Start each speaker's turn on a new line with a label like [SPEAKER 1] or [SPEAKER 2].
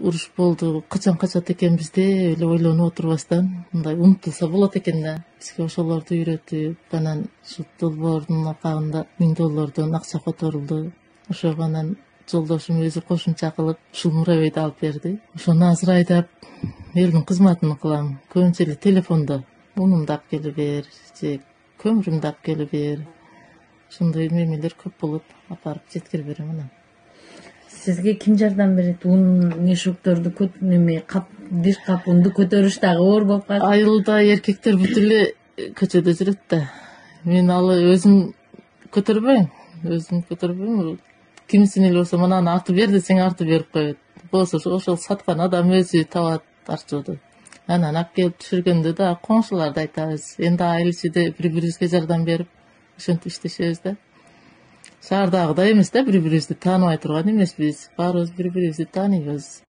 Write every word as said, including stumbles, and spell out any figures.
[SPEAKER 1] уруш болду, качан качат экенбиз деп эле ойлонуп отурбастан мындай унутулса болот экен да. Бизге ошолорду үйрөтүп, анан ушу долбоордун акабында миң доллардан акча которулду. Ошого анан жолдошум өзү кошумча кылып ушул муравейди алып берди. Ошону азыр айдап элдин кызматын кылам. Көбүнчө эле телефондо унумду алып келе бер же көмүрүмдү алып келе бер. Ошондой мемелер көп болуп апарып жеткирип берем анан.
[SPEAKER 2] Сизге ким жардам берет? Un мешокторду көт неме кап бир кап унду көтөрүш дагы оор болуп калат.
[SPEAKER 1] Айылда эркектер бүт эле көчөдө жүрөт да. Мен алы өзүм көтөрбөйм. Өзүм көтөрбөйм. Кимисине эле болсо мынаны артып бер десең артып берип коет. Болсо ошол саткан адам өзү табат арчууду. Анан алып келип түшүргөндө да коңшуларда айтабыз. Эndi айыл ичинде бири-бирибизге жардам берип ошентип иштешебиз да. Шаардагыдай эмес да, бири-бирибизди тааныбай турган эмеспиз. Баарыбыз бири-бирибизди тааныйбыз.